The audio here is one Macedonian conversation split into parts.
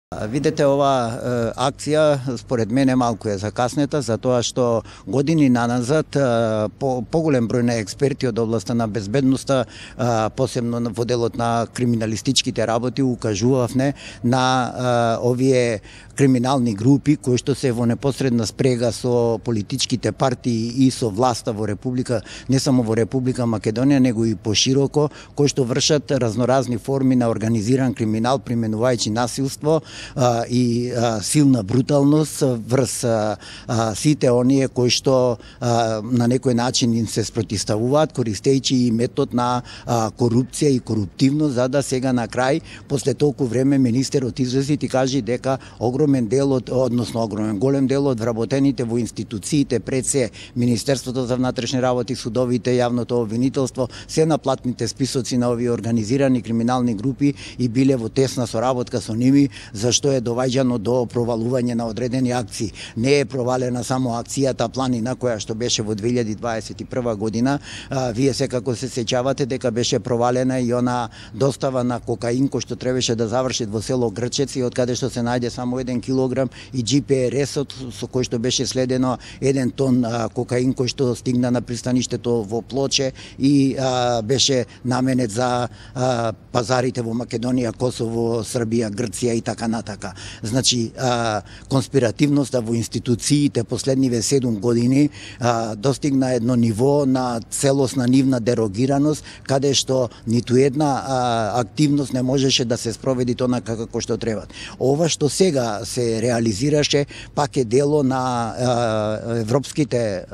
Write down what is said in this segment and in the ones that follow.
Видете, ова акција според мене малку е закаснета, затоа што години наназад поголем број на експерти од областта на безбедноста, посебно во делот на криминалистичките работи, укажувавме на овие криминални групи кои што се во непосредна спрега со политичките партии и со власта во Република, не само во Република Македонија, него и пошироко, кои што вршат разноразни форми на организиран криминал, применувајќи насилство и силна бруталност врз сите оние кои што на некој начин им се спротивставуваат, користејќи и метод на корупција и коруптивност, за да сега на крај, после толку време, министерот излезе и кажи дека голем дел од вработените во институциите, пред се Министерството за внатрешни работи, судовите, јавното обвинителство, се на платните списоци на овие организирани криминални групи и биле во тесна соработка со ними, зашто е доваѓано до провалување на одредени акции. Не е провалена само акцијата Планина, која што беше во 2021 година. Вие секако се сеќавате дека беше провалена и она достава на кокаин кој што требаше да заврши во село Грчец и од каде што се најде само 1 килограм и GPS-от со кој што беше следено 1 тон кокаин кој што стигна на пристаништето во Плоче и беше наменет за пазарите во Македонија, Косово, Србија, Грција и така натака. Значи, конспиративноста во институциите последниве 7 години достигна едно ниво на целосна нивна дерогираност, каде што ниту една активност не можеше да се спроведи тоа како што треба. Ова што сега се реализираше пак е дело на европските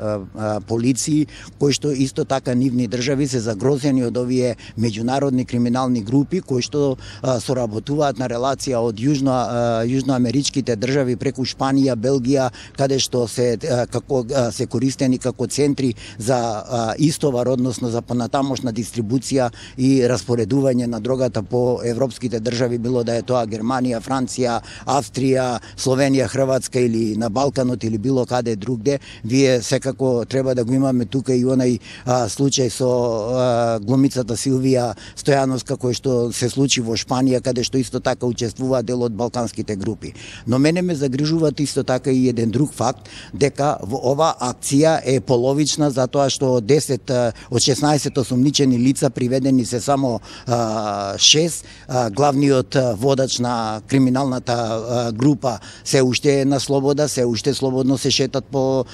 полиции, кои што исто така нивни држави се загрозени од овие меѓународни криминални групи кои што соработуваат на релација од јужноамеричките држави преку Шпанија, Белгија, каде што се користени како центри за истовар, односно за понатамошна дистрибуција и распоредување на дрогата по европските држави, било да е тоа Германија, Франција, Австрија, Словенија, Хрватска или на Балканот или било каде другде. Вие секако треба да го имаме тука и онај случај со глумицата Силвија Стојановска кој што се случи во Шпанија, каде што исто така учествува дел од балканските групи. Но мене ме загрижуваат исто така и еден друг факт, дека во ова акција е половична, затоа што од 16 осумничени лица приведени се само 6, главниот водач на криминалната група се уште е на слобода, се уште слободно се шетат по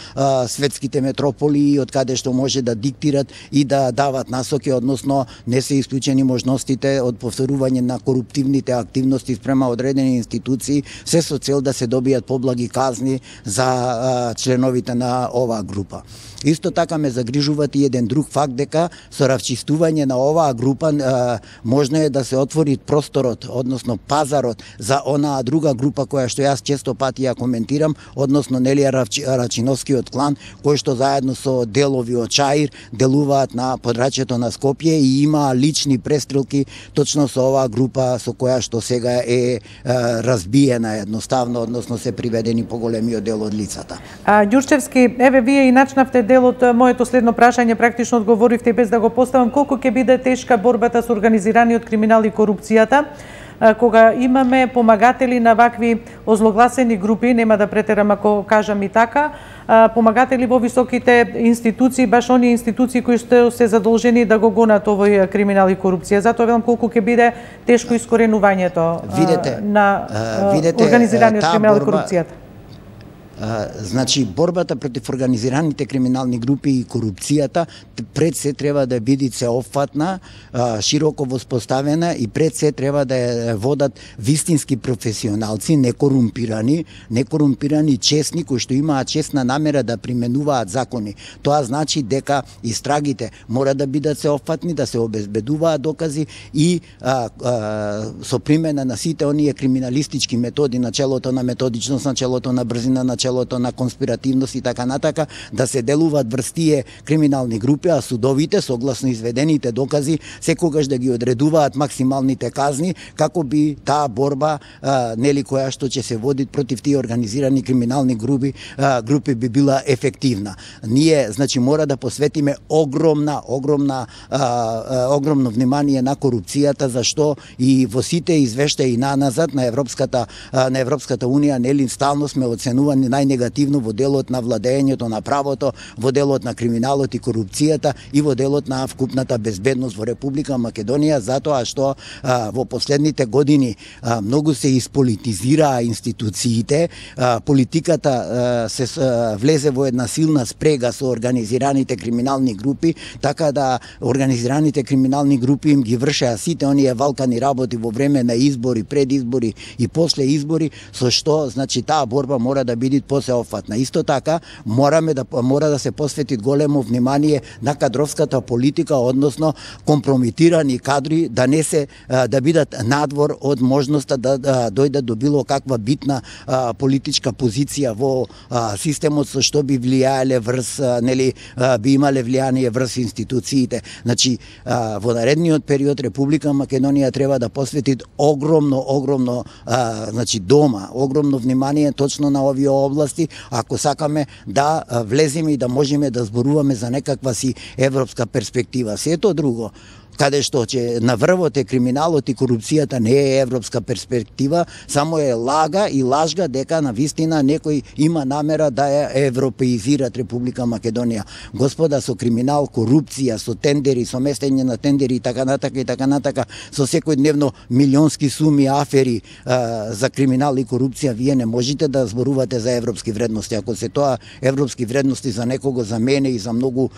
светските метрополии, од каде што може да диктират и да дават насоки, односно не се исклучени можностите од повторување на коруптивните активности спрема одредени институции, се со цел да се добијат поблаги казни за членовите на оваа група. Исто така ме загрижуваат и еден друг факт, дека со равчистување на оваа група можно е да се отвори просторот, односно пазарот за онаа друга група која што јас често пати ја коментирам, односно Нелија Рачиновскиот клан, кој што заедно со делови од Чаир делуваат на подрачјето на Скопје и има лични престрелки точно со оваа група со која што сега е разбиена едноставно, односно се приведени поголемиот дел од лицата. Ѓурчевски, еве вие и начнавте дел од моето следно прашање, практично одговоривте без да го поставам, колку ќе биде тешка борбата со организираниот криминал и корупцијата, кога имаме помагатели на вакви озлогласени групи, нема да претерам ако кажам и така, помагатели во високите институции, баш оние институции кои што се задолжени да го гонат овој криминал и корупција. Затоа велам колку ќе биде тешко искоренувањето на организираниот криминал и корупцијата. Значи, борбата против организираните криминални групи и корупцијата пред се треба да биде сеопфатна, широко воспоставена и пред се треба да ја водат вистински професионалци, некорумпирани, честни, кои што имаат честна намера да применуваат закони. Тоа значи дека истрагите мора да бидат сеопфатни, да се обезбедуваат докази и со примена на сите оние криминалистички методи, начелото на методичност, начелото на брзина, начелото начелото на конспиративност и така натака, да се делуваат врз тие криминални групи, а судовите согласно изведените докази секогаш да ги одредуваат максималните казни како би таа борба нели која што ќе се води против тие организирани криминални групи би била ефективна. Ние значи мора да посветиме огромно внимание на корупцијата, зашто и во сите извештаи наназад на Европската унија нели стално сме оценувани најнегативно во делот на владеењето на правото, во делот на криминалот и корупцијата и во делот на вкупната безбедност во Република Македонија, затоа што во последните години многу се исполитизираа институциите, политиката се влезе во една силна спрега со организираните криминални групи, така да организираните криминални групи им ги вршеа сите оние валкани работи во време на избори, пред избори и после избори, со што значи таа борба мора да биде посеопфатна. Исто така мора да се посвети големо внимание на кадровската политика, односно компромитирани кадри да бидат надвор од можноста да дојдат до било каква битна политичка позиција во системот, со што би влијаеле врз би имале влијание врз институциите. Значи во наредниот период Република Македонија треба да посвети огромно значи огромно внимание точно на овие области, ако сакаме да влеземе и да можеме да зборуваме за некаква си европска перспектива. Сето друго каде што ќе на врвот е криминалот и корупцијата не е европска перспектива, само е лажга дека на вистина некој има намера да ја европеизират Република Македонија. Господа, со криминал, корупција, со тендери, со местење на тендери и така натака, со секојдневно милионски суми афери за криминал и корупција, вие не можете да зборувате за европски вредности. Ако се тоа европски вредности за некого, за мене и за многу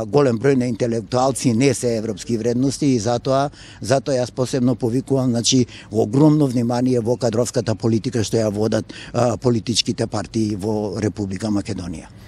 голем број на интелектуалци не се европски вредности, и затоа јас посебно повикувам значи огромно внимание во кадровската политика што ја водат политичките партии во Република Македонија.